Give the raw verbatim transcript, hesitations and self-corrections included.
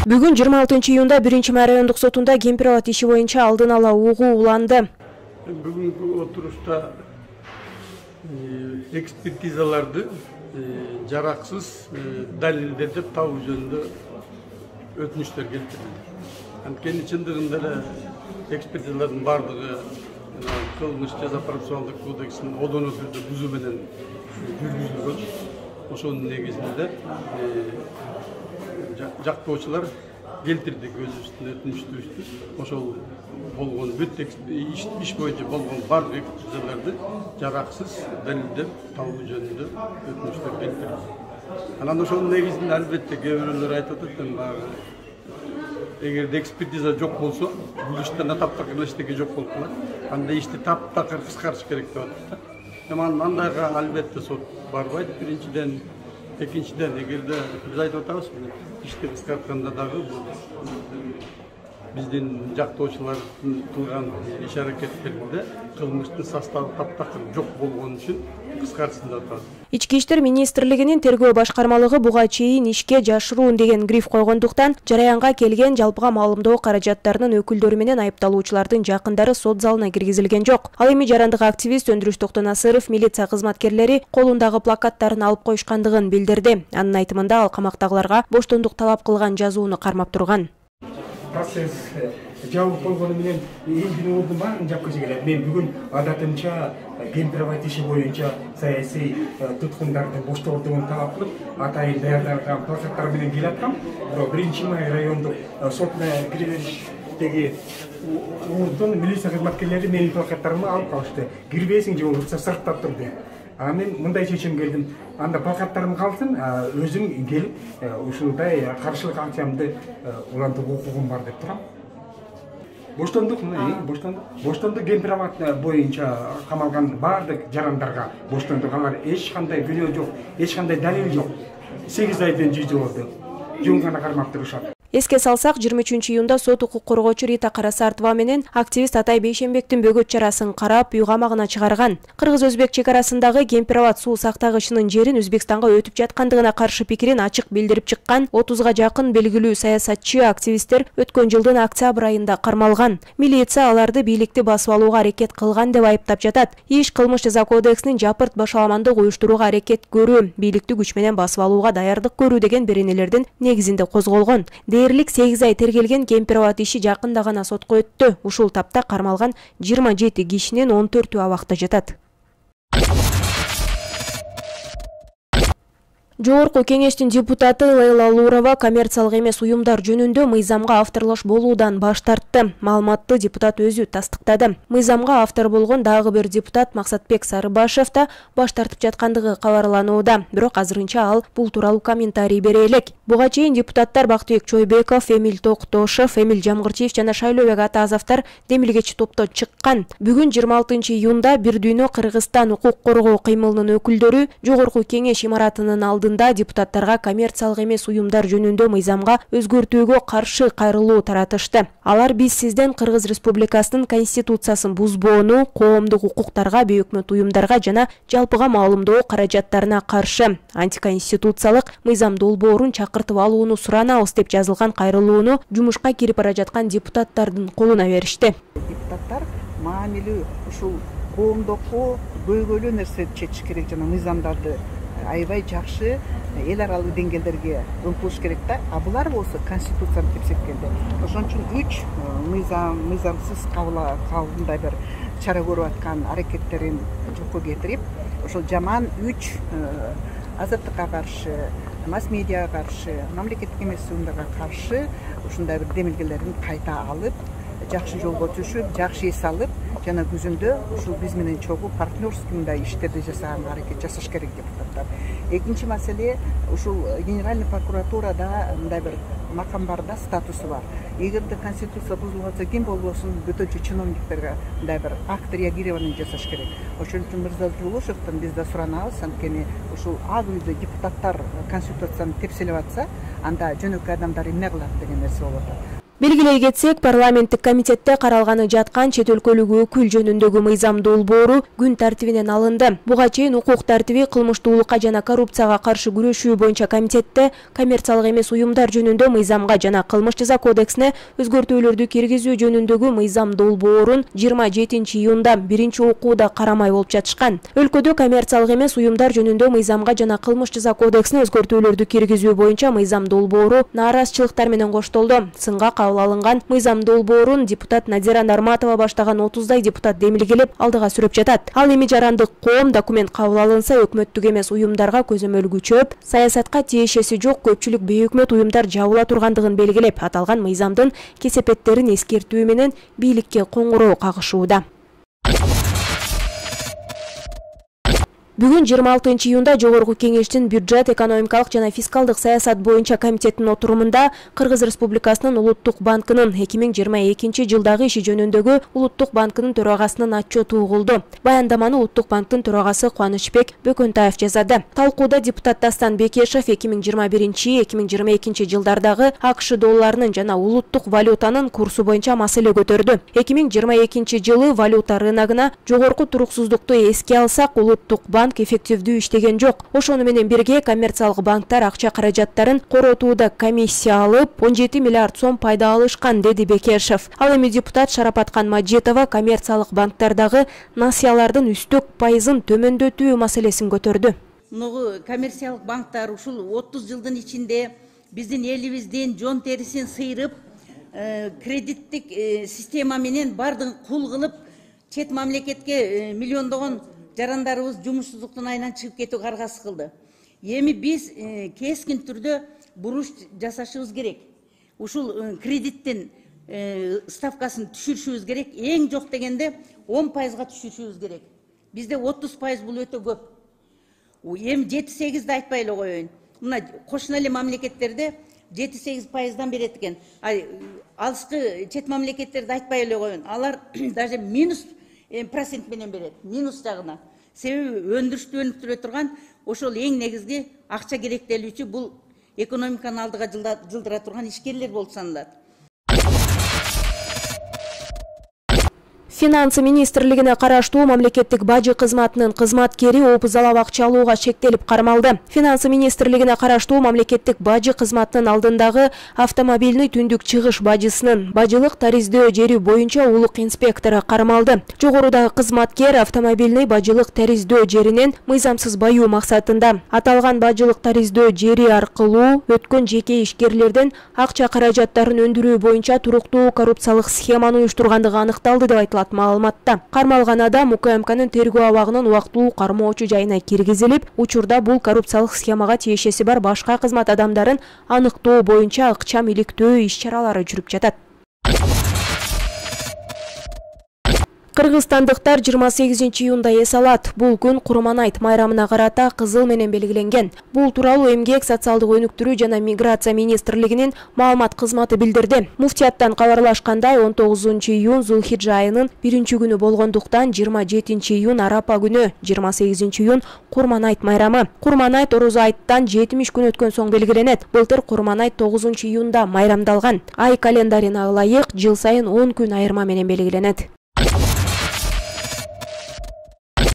Бүгүн жыйырма алтынчы июнда биринчи май райондук сотунда Кемпирабад иши боюнча алдын ала угуу уланды. Бүгүнкү отурушта экспертизаларды жараксыз далилдер деп табуу жөнүндө өтүнүчтөр келтирилди. Анткени чындыгында эле экспертизалардын бардыгы кылмыш жаза процессуалдык кодексинин одоно түрдө бузуу менен жүргүзүлгөн. Ошонун негизинде жактоочулар келтирди көз үстүнө өтүнүчтү. Ошол болгон бүт иш боюнча болгон бардык экспертизаларды жараксыз далилдеп табуу жөнүндө өтүнүчтөр келтирди. Анан ошонун негизинде албетте кээ бирөөлөр айтып атат, баягы эгерде экспертиза жок болсо, бул иштен таптакыр эчтеке жок болуп калат. Анда ишти таптакыр кыскартыш керек деп атат. Эми андайга албетте сот барбайт. Биринчиден, экинчиден, эгерде биз айтып атабыз, ишти кыскартканда дагы биздин жактоочулардын кылган иш аракеттеринде кылмыштын составы таптакыр жок болгон үчүн кыскартсын деп атат. Ички иштер министрлигинин тергөө башкармалыгы буга чейин ишке жашыруун деген гриф койгондуктан жараянга келген жалпыга маалымдоо каражаттарынын өкүлдөрү менен айыпталуучулардын жакындары сот залына киргизилген жок. Ал эми жарандык активист Өндүрүш Токтонасыров милиция кызматкерлери колундагы плакаттарын алып коюшкандыгын билдирди. Анын айтымында ал камактагыларга боштондук талап кылган жазууну кармап турган. Процесс жабылып койгону менен элдин ордун баарын жапкысы келет. Мен бүгүн адатымча Кемпирабад иши боюнча саясий туткундарды боштоотууну талап кылып, атайын даярдалган плакаттар менен келаткам. Бирок биринчи май райондук сотуна киргизиштеги ордун милиция кызматкерлери менин плакаттарымды алып калышты. Кирбейсиң же болбосо сыртта тур деп. А мен мындай чечим келдим. Анда плакаттарым калсын, өзүм келип ушундай каршылык акциямды улантууга укугум бар деп турам. Боштондук, боштондук, боштондук Кемпирабад боюнча камалган бардык жарандарга боштондук, алар эч кандай күнөө жок, эч кандай далил жок. сегиз айдан жүз жыл болду. Жөн гана кармап турушат. Эске салсак, жыйырма үчүнчү июнда сот укук коргоочу Рита Карасартова менен активист Атай Бейшенбектин бөгөт чарасын карап, үй камагына чыгарган. Кыргыз-өзбек чек арасындагы Кемпирабад суу сактагычынын жерин Өзбекстанга өтүп жаткандыгына каршы пикирин ачык билдирип чыккан отузга жакын белгилүү саясатчы активисттер өткөн жылдын октябрь айында кармалган. Милиция аларды бийликти басып алууга аракет кылган деп айыптап жатат. Иш кылмыш жаза кодексинин жапырт башаламандык уюштурууга аракет көрүү, бийликти күч менен басып алууга даярдык көрүү деген беренелердин негизинде козголгон. Дээрлик сегиз ай тергелген Кемпирабад иши жакында гана сотко өттү. Ушул тапта кармалган жыйырма жети кишинин он төртү абакта жатат. Жогорку кеңештин депутаты Лейла Лурова коммерциялык эмес уюмдар жөнүндө мыйзамга авторлош болуудан баш тартты. Маалыматты депутат өзү тастыктады. Мыйзамга автор болгон дагы бир депутат Максатбек Сарыбашев да баш тартып жаткандыгы кабарланууда. Бирок азырынча ал бул тууралуу комментарий бере элек. Буга чейин депутаттар Бактыбек Чойбеков, Эмиль Токтошев, Эмиль Жамгырчиев жана Шайлообек Атазовдор демилгечи топто чыккан. Бүгүн жыйырма алтынчы июнда Бир дүйнө Кыргызстан укук коргоо кыймылынын өкүлдөрү Жогорку кеңеш имаратынын алдында депутаттарга коммерциялык эмес уюмдар жөнүндө мыйзамга өзгөртүүгө каршы кайрылуу таратышты. Алар биз сизден Кыргыз Республикасынын конституциясын бузбоону, коомдук укуктарга, бейөкмөт уюмдарга жана жалпыга маалымдоо каражаттарына каршы антиконституциялык мыйзам долбоорун чакыртып алууну суранабыз деп жазылган кайрылууну жумушка кирип бара жаткан депутаттардын колуна беришти. Депутаттар маанилүү ушул коомдокко көйгөйлүү нерсе чечиш керек жана мыйзамдарды аябай жакшы эл аралык деңгээлдерге өмкүлүш керек да. А булар болсо конституцияны тепсек келди. Ошон үчүн үч мыйзам мыйзамсыз кабылдай бир чара көрүп аткан аракеттерин жокко кетирип, ошол жаман үч азаттыкка каршы, масс медиага каршы, мамлекеттик эмес уюмдарга каршы ушундай бир демилгелерин кайта алып, жакшы жолго түшүп, жакшы эс алып, жана күзүндө ушул биз менен чогуу партнерский мындай иштерди жасаганга аракет жасаш керек депутаттар. Экинчи маселе, ушул Генеральный прокуратурада мындай бир макам бар да, статусу бар. Эгерде конституция бузулуп атса, ким болбосун бөтөнчө чиновниктерге мындай бир акт реагирования жасаш керек. Ошон үчүн Мырза Жулушевден биз да суранабыз, анткени ушул ак үйдө депутаттар конституцияны тепселеп атса, анда жөнөкөй адамдар эмне кылат деген нерсе болот. Белгилей кетсек, парламенттик комитетте каралганы жаткан чет өлкөлүк өкүл жөнүндөгү мыйзам долбоору күн тартибинен алынды. Буга чейин укук тартиби, кылмыштуулукка жана коррупцияга каршы күрөшүү боюнча комитетте коммерциялык эмес уюмдар жөнүндө мыйзамга жана кылмыш жаза кодексине өзгөртүүлөрдү киргизүү жөнүндөгү мыйзам долбоорун жыйырма жетинчи июнда биринчи окууда карамай болуп жатышкан. Өлкөдө коммерциялык эмес уюмдар жөнүндө мыйзамга жана кылмыш жаза кодексине өзгөртүүлөрдү киргизүү боюнча мыйзам долбоору нааразычылыктар менен коштолду. Сынга кабыл алынган мыйзам долбоорун депутат Надира Нарматова баштаган отуздай депутат демилгелеп алдыга сүрөп жатат. Ал эми жарандык коом документ кабыл алынса өкмөттүк эмес уюмдарга көзөмөл күчөп, саясатка тиешеси жок көпчүлүк бейөкмөт уюмдар жабыла тургандыгын белгилеп, аталган мыйзамдын кесепеттерин эскертүү менен бийликке коңгуроо кагышууда. Бүгүн жыйырма алтынчы июнда Жогорку Кеңештин бюджет, экономикалык жана фискалдык саясат боюнча комитетинин отурумунда Кыргыз Республикасынын Улуттук банкынын эки миң жыйырма экинчи жылдагы иши жөнүндөгү Улуттук банкынын төрагасынын отчету угулду. Баяндаманы Улуттук банктын төрагасы Кубанычбек Бөкөнтаев жасады. Талкууда депутат Дастан Бекешев эки миң жыйырма биринчи — эки миң жыйырма экинчи жылдардагы АКШ долларынын жана улуттук валютанын курсу боюнча маселе көтөрдү. эки миң жыйырма экинчи жылы валюта рыногуна жогорку туруксуздукту эске алсак, Улуттук банк эффективдүү иштеген жок. Ошону менен бирге коммерциялык банктар акча каражаттарын коротууда комиссия алып, он жети миллиард сом пайда алышкан, деди Бекешев. Ал эми депутат Шарапаткан Маджитова коммерциялык банктардагы насыялардын үстөк пайызын төмөндөтүү маселесин көтөрдү. Ногу коммерциялык банктар ушул отуз жылдын ичинде биздин элибиздин жон терисин сыйрып, кредиттик система менен бардыгын кул кылып, чет мамлекетке миллиондогон жарандарыбыз жумушсуздуктун айынан чыгып кетүү каргасы кылды. Эми биз кескин түрдө буруш жасашыбыз керек. Ушул кредиттин ставкасын түшүрүшүбүз керек. Эң жок дегенде он пайызга түшүрүшүбүз керек. Бизде отуз пайыз бул өтө көп. Эми жети сегизди айтпай эле коеюн. Мына кошуна эле мамлекеттерде жети сегиз пайыздан берет экен. Алыскы чет мамлекеттерди айтпай эле коеюн. Алар даже минус процент менен берет, минус жагына. Себеби өндүрүштү өнүктүрө турган ошол эң негизги акча керектелүүчү бул экономиканы алдыга жылдыра турган ишкерлер болуп саналат. Финансы министрлигине караштуу мамлекеттик бажы кызматынын кызматкери опузалап акча алууга шектелип кармалды. Финансы министрлигине караштуу мамлекеттик бажы кызматынын алдындагы автомобильный түндүк чыгыш бажысынын бажылык тариздөө жери боюнча улук инспектору кармалды. Жогорудагы кызматкер автомобильный бажылык тариздөө жеринен мыйзамсыз баюу максатында аталган бажылык тариздөө жери аркылуу өткөн жеке ишкерлерден акча каражаттарын өндүрүү боюнча туруктуу коррупциялык схеманы уюштургандыгы аныкталды деп айтылат маалыматта. Кармалган адам УКМКнын тергөө абагынын убактылуу кармоочу жайына киргизилип, учурда бул коррупциялык схемага тиешеси бар башка кызмат адамдарын аныктоо боюнча ыкчам иликтөө иш-чаралары жүрүп жатат. Кыргызстандыктар жыйырма сегизинчи июнда эс алат. Бул күн Курманайт майрамына карата кызыл менен белгиленген. Бул тууралуу Эмгек, социалдык өнүктүрүү жана миграция министрлигинин маалымат кызматы билдирди. Муфтияттан кабарлашкандай, он тогузунчу июнь Зулхиджа айынын биринчи күнү болгондуктан жыйырма жетинчи июнь Арапа күнү, жыйырма сегизинчи июнь Курманайт майрамы. Курманайт орозо айттан жетимиш күн өткөн соң белгиленет. Былтыр Курманайт тогузунчу июнда майрамдалган. Ай календарына ылайык жыл сайын он күн айырма менен белгиленет.